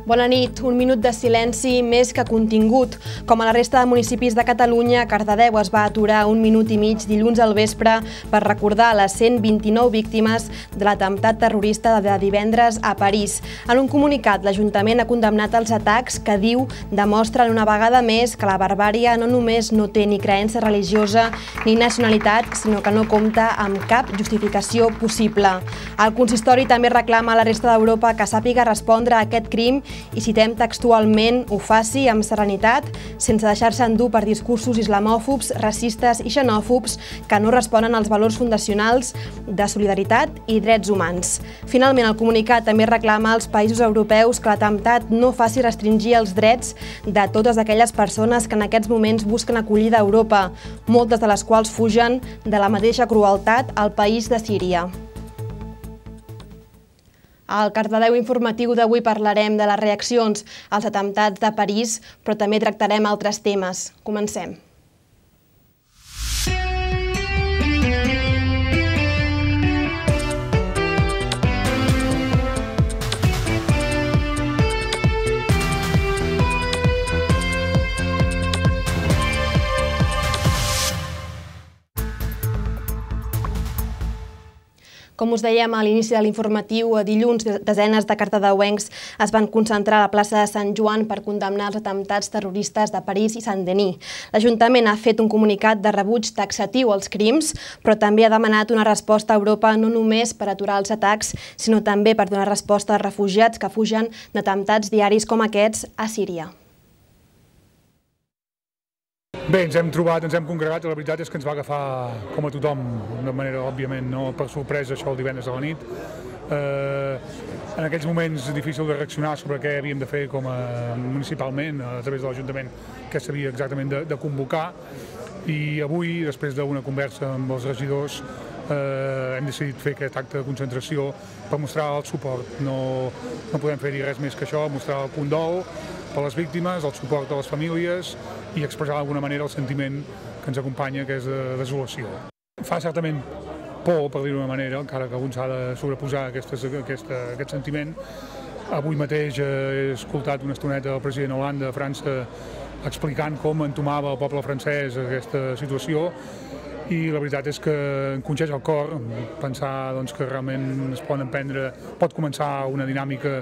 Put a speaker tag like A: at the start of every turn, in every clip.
A: Bona nit. Un minut de silenci més que contingut. Com a la resta de municipis de Catalunya, Cardedeu es va aturar un minut i mig dilluns al vespre per recordar les 129 víctimes de l'atemptat terrorista de divendres a París. En un comunicat, l'Ajuntament ha condemnat els atacs que diu demostren una vegada més que la barbàrie no només no té ni creença religiosa ni nacionalitat, sinó que no compta amb cap justificació possible. El consistori també reclama a la resta d'Europa que sàpiga respondre a aquest crim i, citem textualment, ho faci amb serenitat, sense deixar-se endur per discursos islamòfobs, racistes i xenòfobs que no responen als valors fundacionals de solidaritat i drets humans. Finalment, el comunicat també reclama als països europeus que l'atemptat no faci restringir els drets de totes aquelles persones que en aquests moments busquen acollida a Europa, moltes de les quals fugen de la mateixa crueltat al país de Síria. Al Cardedeu informatiu d'avui parlarem de les reaccions als atemptats de París, però també tractarem altres temes. Comencem. Com us dèiem a l'inici de l'informatiu, dilluns desenes de cardedeuencs es van concentrar a la plaça de Sant Joan per condemnar els atemptats terroristes de París i Saint-Denis. L'Ajuntament ha fet un comunicat de rebuig taxatiu als crims, però també ha demanat una resposta a Europa no només per aturar els atacs, sinó també per donar resposta als refugiats que fugen d'atemptats diaris com aquests a Síria.
B: Bé, ens hem trobat, ens hem congregat i la veritat és que ens va agafar, com a tothom, de manera, òbviament, no per sorpresa, això el divendres a la nit. En aquells moments difícil de reaccionar sobre què havíem de fer com a municipalment, a través de l'Ajuntament, què s'havia exactament de convocar. I avui, després d'una conversa amb els regidors, hem decidit fer aquest acte de concentració per mostrar el suport. No podem fer-hi res més que això, mostrar el condol per les víctimes, el suport a les famílies i expressar d'alguna manera el sentiment que ens acompanya, que és de desolació. Fa certament por, per dir-ho d'una manera, encara que algú s'ha de sobreposar aquest sentiment. Avui mateix he escoltat una estoneta del president Hollande de França explicant com entomava el poble francès aquesta situació i la veritat és que em conxeix el cor pensar que realment es pot començar una dinàmica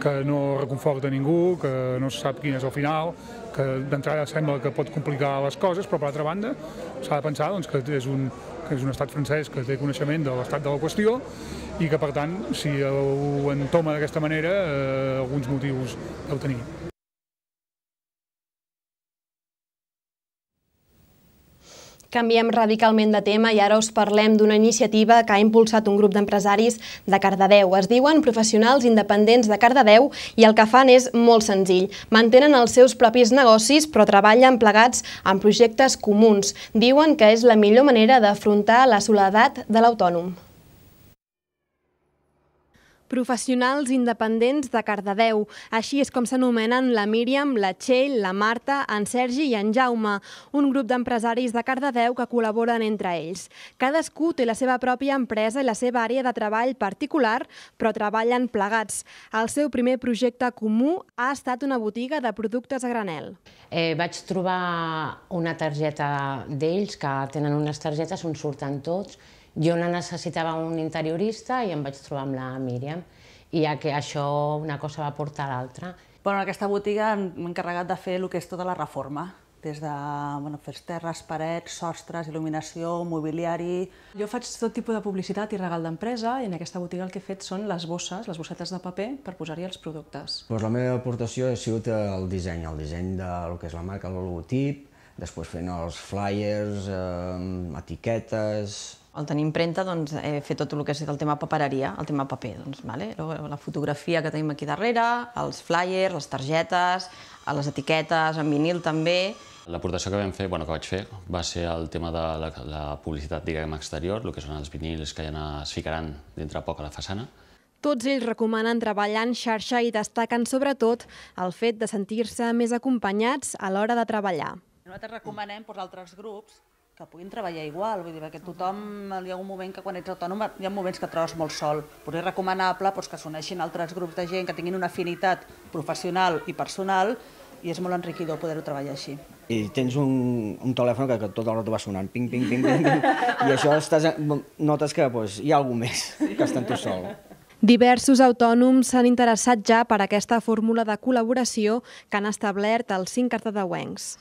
B: que no reconforta ningú, que no se sap quin és el final, que d'entrada sembla que pot complicar les coses, però per altra banda s'ha de pensar que és un estat francès que té coneixement de l'estat de la qüestió i que per tant, si ho entoma d'aquesta manera, alguns motius deu tenir.
A: Canviem radicalment de tema i ara us parlem d'una iniciativa que ha impulsat un grup d'empresaris de Cardedeu. Es diuen Professionals Independents de Cardedeu i el que fan és molt senzill. Mantenen els seus propis negocis però treballen plegats en projectes comuns. Diuen que és la millor manera d'afrontar la soledat de l'autònom. Professionals Independents de Cardedeu. Així és com s'anomenen la Míriam, la Txell, la Marta, en Sergi i en Jaume, un grup d'empresaris de Cardedeu que col·laboren entre ells. Cadascú té la seva pròpia empresa i la seva àrea de treball particular, però treballen plegats. El seu primer projecte comú ha estat una botiga de productes a granel.
C: Vaig trobar una targeta d'ells, que tenen unes targetes on surten tots. Jo necessitava un interiorista i em vaig trobar amb la Míriam. I ja que això, una cosa va portar a l'altra.
D: En aquesta botiga m'he encarregat de fer el que és tota la reforma, des de fer terres, parets, sostres, il·luminació, mobiliari.
E: Jo faig tot tipus de publicitat i regal d'empresa i en aquesta botiga el que he fet són les bosses, les bossetes de paper per posar-hi els productes.
F: La meva aportació ha sigut el disseny del que és la marca, el logotip, després fent els flyers, etiquetes.
G: Al tenir impremta he fet tot el que és el tema papereria, el tema paper. La fotografia que tenim aquí darrere, els flyers, les targetes, les etiquetes, en vinil també.
H: L'aportació que vaig fer va ser el tema de la publicitat exterior, el que són els vinils que ja es ficaran dintre poc a la façana.
A: Tots ells recomanen treballar en xarxa i destaquen sobretot el fet de sentir-se més acompanyats a l'hora de treballar.
D: Nosaltres recomanem als altres grups que puguin treballar igual, vull dir, perquè tothom, hi ha un moment que quan ets autònom hi ha moments que et trobes molt sol. Potser és recomanable que s'uneixin altres grups de gent que tinguin una afinitat professional i personal i és molt enriquidor poder-ho treballar així.
F: I tens un telèfon que tot el rato va sonant, ping, ping, ping, ping, i això notes que hi ha algú més que està en tu sol.
A: Diversos autònoms s'han interessat ja per aquesta fórmula de col·laboració que han establert els 5 cardedeuencs.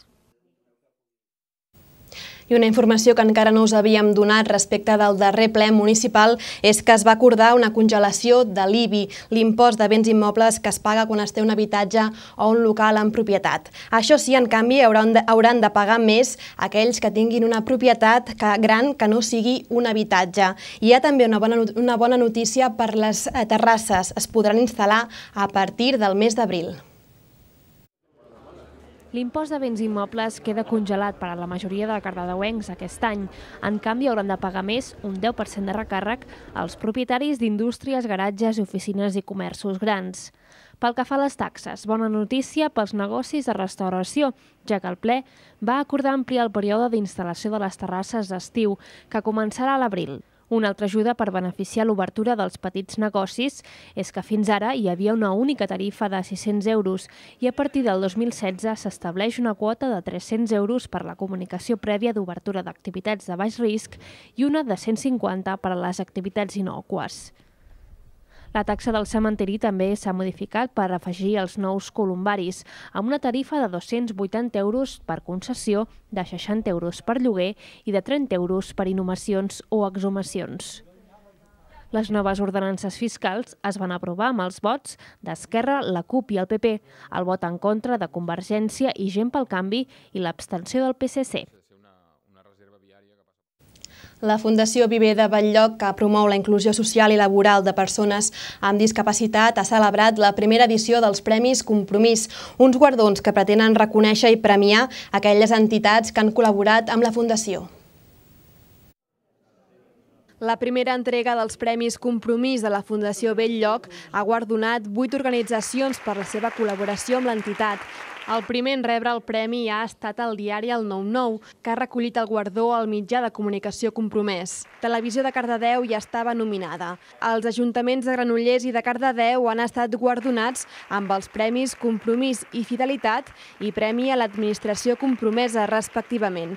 A: I una informació que encara no us havíem donat respecte del darrer ple municipal és que es va acordar una congelació de l'IBI, l'impost de béns immobles que es paga quan es té un habitatge o un local en propietat. Això sí, en canvi, hauran de pagar més aquells que tinguin una propietat gran que no sigui un habitatge. Hi ha també una bona notícia per les terrasses. Es podran instal·lar a partir del mes d'abril.
I: L'impost de béns immobles queda congelat per a la majoria de cardedeuencs aquest any. En canvi, hauran de pagar més, un 10% de recàrrec, als propietaris d'indústries, garatges, oficines i comerços grans. Pel que fa a les taxes, bona notícia pels negocis de restauració, ja que el ple va acordar ampliar el període d'instal·lació de les terrasses d'estiu, que començarà a l'abril. Una altra ajuda per beneficiar l'obertura dels petits negocis és que fins ara hi havia una única tarifa de 600 euros i a partir del 2016 s'estableix una quota de 300 euros per la comunicació prèvia d'obertura d'activitats de baix risc i una de 150 per a les activitats innòcues. La taxa del cementiri també s'ha modificat per afegir els nous columbaris, amb una tarifa de 280 euros per concessió, de 60 euros per lloguer i de 30 euros per inhumacions o exhumacions. Les noves ordenances fiscals es van aprovar amb els vots d'Esquerra, la CUP i el PP, el vot en contra de Convergència i Gent pel Canvi i l'abstenció del PSC.
A: La Fundació Viver de Bell-lloc, que promou la inclusió social i laboral de persones amb discapacitat, ha celebrat la primera edició dels Premis Compromís, uns guardons que pretenen reconèixer i premiar aquelles entitats que han col·laborat amb la Fundació. La primera entrega dels Premis Compromís de la Fundació Bell-lloc ha guardonat 8 organitzacions per la seva col·laboració amb l'entitat. El primer en rebre el premi ha estat el diari El 99, que ha recollit el guardó al mitjà de comunicació compromès. Televisió de Cardedeu ja estava nominada. Els ajuntaments de Granollers i de Cardedeu han estat guardonats amb els premis Compromís i Fidelitat i Premi a l'Administració Compromesa, respectivament.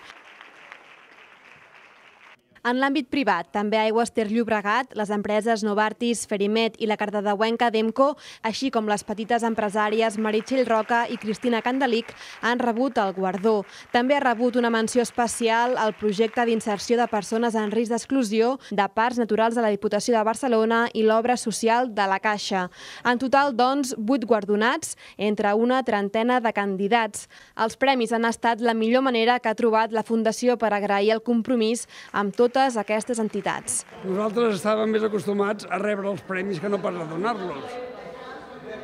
A: En l'àmbit privat, també Aigües Ter Llobregat, les empreses Novartis, Ferimet i la cardedeuenca Demco, així com les petites empresàries Meritxell Roca i Cristina Candelic, han rebut el guardó. També ha rebut una menció especial al projecte d'inserció de persones en risc d'exclusió de Parcs Naturals de la Diputació de Barcelona i l'obra social de la Caixa. En total, doncs, 8 guardonats entre una trentena de candidats. Els premis han estat la millor manera que ha trobat la Fundació per agrair el compromís amb totes aquestes entitats.
J: Nosaltres estàvem més acostumats a rebre els premis que no pas a donar-los.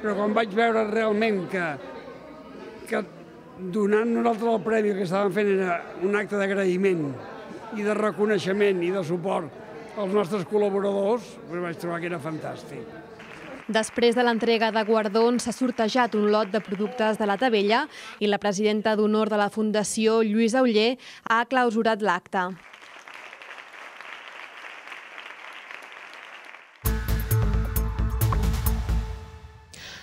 J: Però quan vaig veure realment que donant nosaltres el premi que estàvem fent era un acte d'agraïment i de reconeixement i de suport als nostres col·laboradors, vaig trobar que era fantàstic.
A: Després de l'entrega de guardons s'ha sortejat un lot de productes de la Tavella i la presidenta d'honor de la Fundació, Lluïsa Oller, ha clausurat l'acte.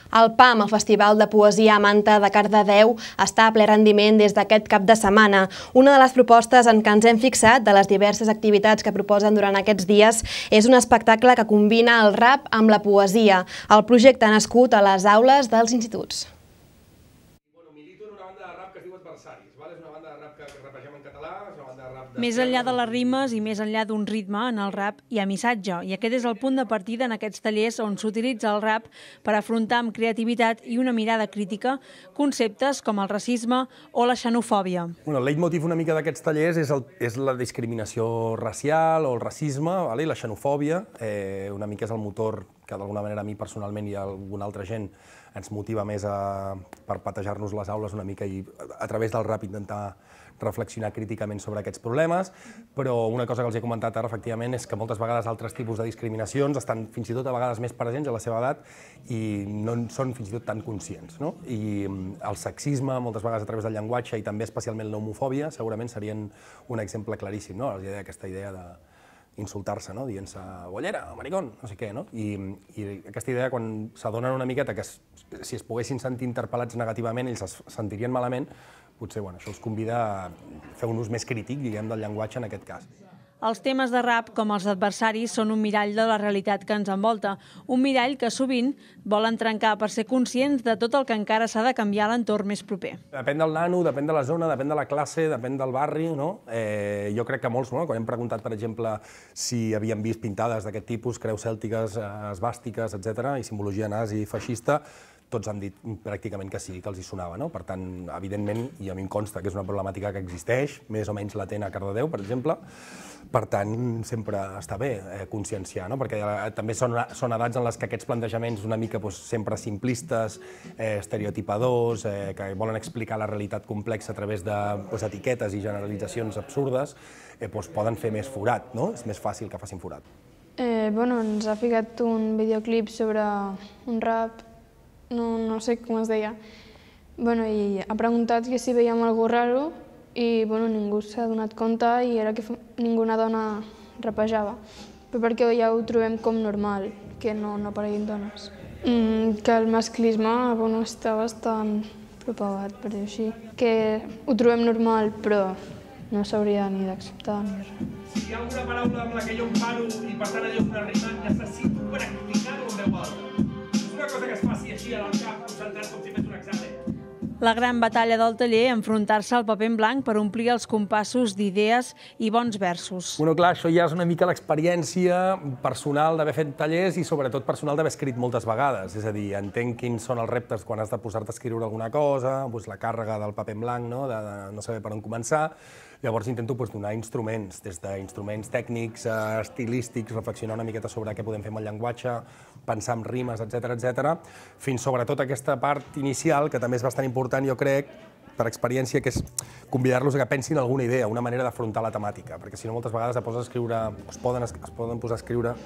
A: El PAM, el Festival de Poesia a Manta de Cardedeu, està a ple rendiment des d'aquest cap de setmana. Una de les propostes en què ens hem fixat de les diverses activitats que proposen durant aquests dies és un espectacle que combina el rap amb la poesia. El projecte ha nascut a les aules dels instituts.
K: Milito en una banda de rap que es diu Adversaris. És una banda de rap que rapegem en català, és una banda de rap...
L: Més enllà de les rimes i més enllà d'un ritme, en el rap hi ha missatge. I aquest és el punt de partida en aquests tallers on s'utilitza el rap per afrontar amb creativitat i una mirada crítica conceptes com el racisme o la xenofòbia.
K: El leitmotiv una mica d'aquests tallers és la discriminació racial o el racisme i la xenofòbia. Una mica és el motor que d'alguna manera a mi personalment i a alguna altra gent ens motiva més per patejar-nos les aules una mica i a través del rap intentar reflexionar críticament sobre aquests problemes. problemes, però una cosa que els he comentat ara, efectivament, és que moltes vegades altres tipus de discriminacions estan fins i tot a vegades més presents a la seva edat i no en són fins i tot tan conscients. I el sexisme, moltes vegades a través del llenguatge, i també especialment l'homofòbia, segurament serien un exemple claríssim, aquesta idea d'insultar-se, dient-se bollera, maricón, no sé què. I aquesta idea, quan s'adonen una miqueta que si es poguessin sentir interpel·lats negativament, ells es sentirien malament, potser això els convida a fer un ús més crític, diguem, del llenguatge en aquest cas.
L: Els temes de rap, com els adversaris, són un mirall de la realitat que ens envolta. Un mirall que sovint volen trencar per ser conscients de tot el que encara s'ha de canviar a l'entorn més proper.
K: Depèn del nano, depèn de la zona, depèn de la classe, depèn del barri. Jo crec que molts, quan hem preguntat, per exemple, si havien vist pintades d'aquest tipus, creus cèltiques, esvàstiques, etc., i simbologia nazi i feixista, tots han dit pràcticament que sí, que els hi sonava. Per tant, evidentment, i a mi em consta que és una problemàtica que existeix, més o menys latent a Cardedeu, per exemple. Per tant, sempre està bé conscienciar, perquè també són edats en les que aquests plantejaments una mica sempre simplistes, estereotipadors, que volen explicar la realitat complexa a través d'etiquetes i generalitzacions absurdes, poden fer més forat, és més fàcil que facin forat.
M: Ens ha ficat un videoclip sobre un rap, no sé com es deia, i ha preguntat que si veiem alguna cosa raro i ningú s'ha donat compte i era que ninguna dona rapejava, però perquè ja ho trobem com normal, que no apareguin dones. Que el masclisme està bastant propagat, per dir-ho així, que ho trobem normal però no s'hauria ni d'acceptar ni res.
N: Si hi ha alguna paraula amb la que jo em paro i per tant allò una rima, necessito practicar-ho en veu alta. Una cosa que es faci així al cap, concentrat com si fes un examen.
L: La gran batalla del taller, enfrontar-se al paper en blanc per omplir els compassos d'idees i bons versos.
K: Clar, això ja és una mica l'experiència personal d'haver fet tallers i sobretot personal d'haver escrit moltes vegades. És a dir, entenc quins són els reptes quan has de posar-te a escriure alguna cosa, la càrrega del paper en blanc, de no saber per on començar. Llavors intento donar instruments, des d'instruments tècnics, estilístics, reflexionar una miqueta sobre què podem fer amb el llenguatge, pensar en rimes, etc., fins sobretot aquesta part inicial, que també és bastant important, jo crec, per experiència, que és convidar-los a que pensin alguna idea, una manera d'afrontar la temàtica, perquè si no moltes vegades es poden posar a escriure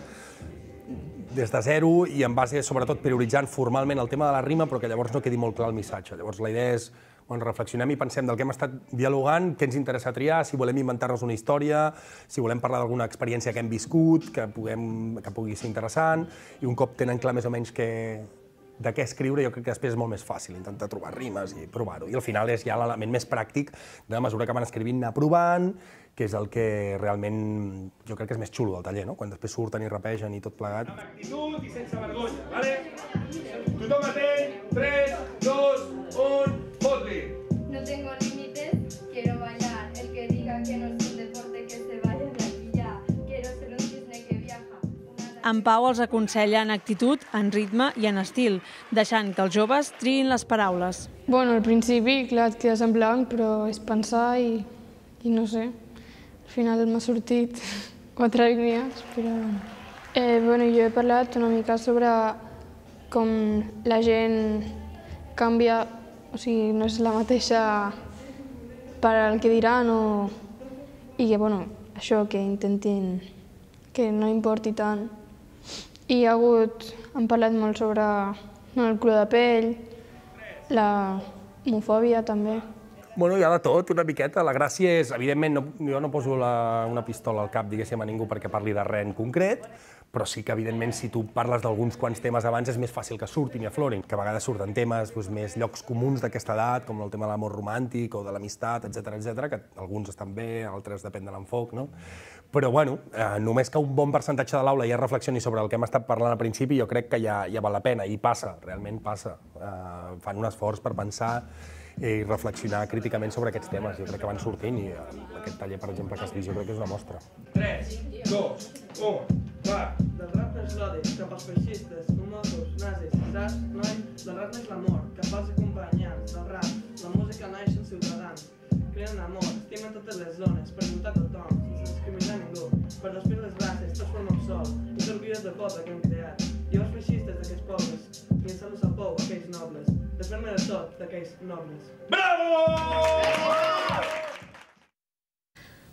K: des de zero i en base, sobretot, prioritzant formalment el tema de la rima, però que llavors no quedi molt clar el missatge. Llavors la idea és reflexionem i pensem del que hem estat dialogant, què ens interessa triar, si volem inventar-nos una història, si volem parlar d'alguna experiència que hem viscut, que pugui ser interessant, i un cop tenen clar més o menys de què escriure, jo crec que després és molt més fàcil intentar trobar rimes i provar-ho. I al final és ja l'element més pràctic de mesura que van escrivint, anar provant, que és el que realment jo crec que és més xulo del taller, quan després surten i rapegen i tot plegat.
N: Amb actitud i sense vergonya, vale? Tothom atent, 3, 2, 1, fot-li!
O: No tengo límites, quiero bailar. El que diga que no es un deporte que se vaya de aquí ya. Quiero ser un cisne que viaja.
L: En Pau els aconsella en actitud, en ritme i en estil, deixant que els joves triïn les paraules.
M: Al principi, clar, et quedes en blanc, però és pensar i no sé. Al final m'ha sortit 4 línies, però... Jo he parlat una mica sobre com la gent canvia, o sigui, no és la mateixa per al que diran i que, això, que intentin que no importi tant. I hem parlat molt sobre el color de pell, la homofòbia també.
K: Hi ha de tot, una miqueta. La gràcia és, evidentment, jo no poso una pistola al cap, diguéssim, a ningú perquè parli de res en concret, però sí que, evidentment, si tu parles d'alguns quants temes abans, és més fàcil que surtin i aflorin, que a vegades surten temes més llocs comuns d'aquesta edat, com el tema de l'amor romàntic o de l'amistat, etc., que alguns estan bé, altres depèn de l'enfoc, Però, només que un bon percentatge de l'aula ja reflexioni sobre el que hem estat parlant al principi, jo crec que ja val la pena, i passa, realment passa. Fan un esforç per pensar i reflexionar críticament sobre aquests temes. Jo crec que van sortint i aquest taller, per exemple, que has vist, jo crec que és una mostra.
N: 3, 2, 1, va!
P: Del rap neix l'odi, cap als feixistes, homosos, nazis, saps, noi? Del rap neix l'amor, cap als acompanyants, del rap, la música naix en ciutadans. Creen amor, estimen totes les zones, per lluitar tothom, sense discriminar ningú, per despir les races, tots formem sol, i t'orgulles del poble que hem creat. I els feixistes d'aquests pobles, i en salut al pou aquells nobles, desfer-me de tot d'aquells nobles.
N: Bravo!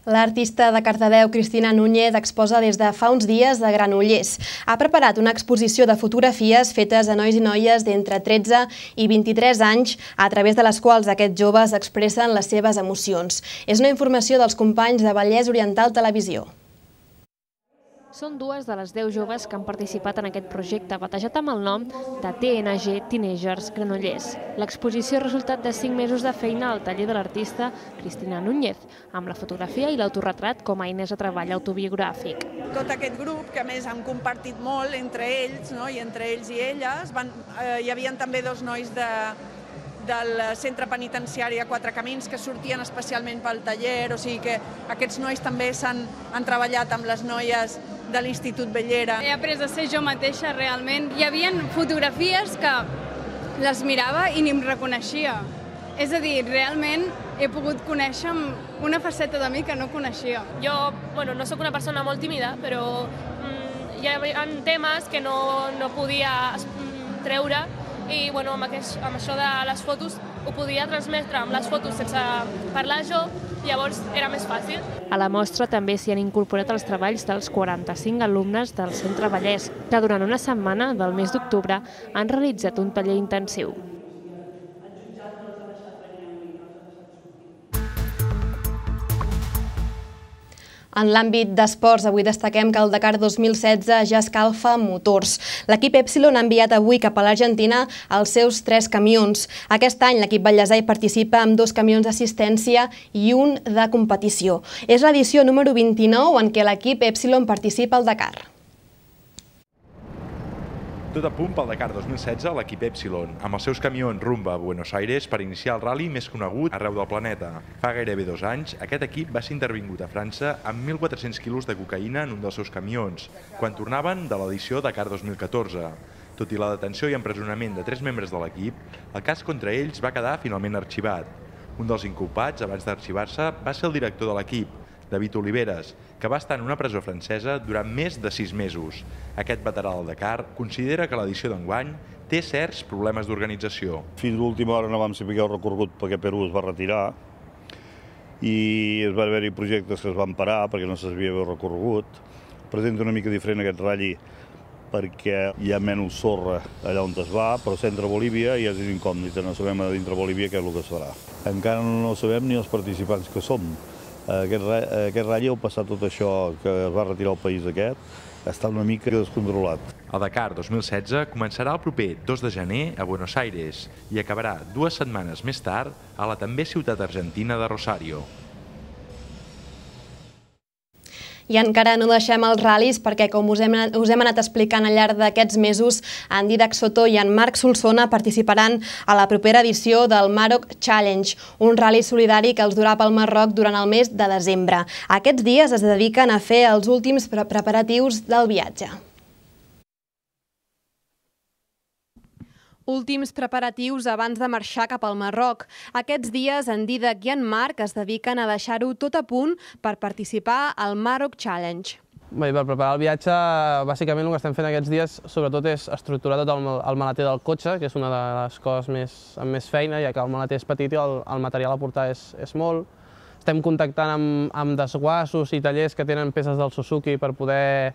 A: L'artista de Cardedeu, Cristina Núñez, exposa des de fa uns dies a Granollers. Ha preparat una exposició de fotografies fetes a nois i noies d'entre 13 i 23 anys, a través de les quals aquests joves expressen les seves emocions. És una informació dels companys de Vallès Oriental Televisió.
I: Són dues de les 10 joves que han participat en aquest projecte, batejat amb el nom de TNG Teenagers Granollers. L'exposició és resultat de 5 mesos de feina al taller de l'artista Cristina Núñez, amb la fotografia i l'autoretrat com a eines de treball autobiogràfic.
Q: Tot aquest grup, que a més han compartit molt entre ells, i entre ells i elles, hi havia també 2 nois del centre penitenciari a Quatre Camins que sortien especialment pel taller, o sigui que aquests nois també han treballat amb les noies de l'Institut Bellera.
R: He après a ser jo mateixa realment. Hi havia fotografies que les mirava i ni em reconeixia. És a dir, realment he pogut conèixer una faceta de mi que no coneixia.
S: Jo, no soc una persona molt tímida, però hi ha temes que no podia treure i amb això de les fotos ho podia transmetre amb les fotos sense parlar jo, llavors era més fàcil.
I: A la mostra també s'hi han incorporat els treballs dels 45 alumnes del Centre Vallès, que durant una setmana del mes d'octubre han realitzat un taller intensiu.
A: En l'àmbit d'esports, avui destaquem que el Dakar 2016 ja escalfa motors. L'equip Epsilon ha enviat avui cap a l'Argentina els seus 3 camions. Aquest any l'equip Vallèsà hi participa amb 2 camions d'assistència i un de competició. És l'edició número 29 en què l'equip Epsilon participa al Dakar.
T: Tot a punt pel Dakar 2016, l'equip Epsilon, amb els seus camions rumba a Buenos Aires per iniciar el rally més conegut arreu del planeta. Fa gairebé 2 anys, aquest equip va ser intervingut a França amb 1.400 quilos de cocaïna en un dels seus camions, quan tornaven de l'edició Dakar 2014. Tot i la detenció i empresonament de 3 membres de l'equip, el cas contra ells va quedar finalment arxivat. Un dels inculpats, abans d'arxivar-se, va ser el director de l'equip, David Oliveres, que va estar en una presó francesa durant més de 6 mesos. Aquest veterà del Dakar considera que l'edició d'enguany té certs problemes d'organització.
U: Fins a l'última hora no vam saber el recorregut perquè Perú es va retirar i es va haver-hi projectes que es van parar perquè no se sabia el recorregut. Presenta una mica diferent aquest ratll perquè hi ha menys sorra allà on es va, però centre Bolívia ja és incògnita, no sabem a dintre Bolívia què és el que es farà. Encara no sabem ni els participants que som. Aquest ratll, al passar tot això que es va retirar el país aquest, està una mica descontrolat.
T: El Dakar 2016 començarà el proper 2 de gener a Buenos Aires i acabarà 2 setmanes més tard a la també ciutat argentina de Rosario.
A: I encara no deixem els ral·lis perquè, com us hem anat explicant al llarg d'aquests mesos, en Didac Soto i en Marc Solsona participaran a la propera edició del Maroc Challenge, un ral·li solidari que els durà pel Marroc durant el mes de desembre. Aquests dies es dediquen a fer els últims preparatius del viatge. Últims preparatius abans de marxar cap al Marroc. Aquests dies en Didac i en Marc es dediquen a deixar-ho tot a punt per participar al Maroc Challenge.
V: Bé, per preparar el viatge, bàsicament el que estem fent aquests dies sobretot és estructurar tot el maleter del cotxe, que és una de les coses amb més feina, ja que el maleter és petit i el material a portar és molt. Estem contactant amb desguassos i tallers que tenen peces del Suzuki per poder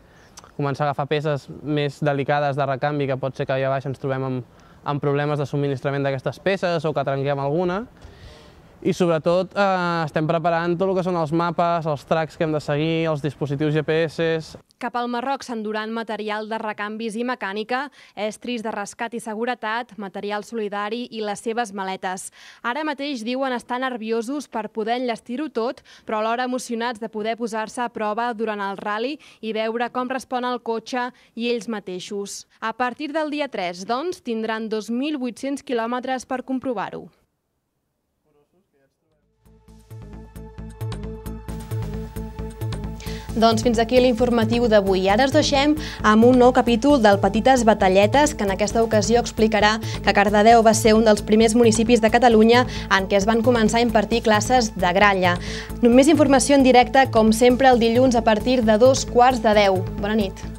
V: començar a agafar peces més delicades de recanvi, que pot ser que allà baix ens trobem amb problemes de subministrament d'aquestes peces o que trenquem alguna. I sobretot estem preparant tot el que són els mapes, els tracks que hem de seguir, els dispositius GPS.
A: Cap al Marroc s'enduran material de recanvis i mecànica, estris de rescat i seguretat, material solidari i les seves maletes. Ara mateix diuen estar nerviosos per poder enllestir-ho tot, però alhora emocionats de poder posar-se a prova durant el ral·li i veure com respon el cotxe i ells mateixos. A partir del dia 3, doncs, tindran 2.800 quilòmetres per comprovar-ho. Doncs fins aquí l'informatiu d'avui. Ara us deixem amb un nou capítol del Petites Batalletes, que en aquesta ocasió explicarà que Cardedeu va ser un dels primers municipis de Catalunya en què es van començar a impartir classes de gralla. Més informació en directe, com sempre, el dilluns a partir de 2:15. Bona nit.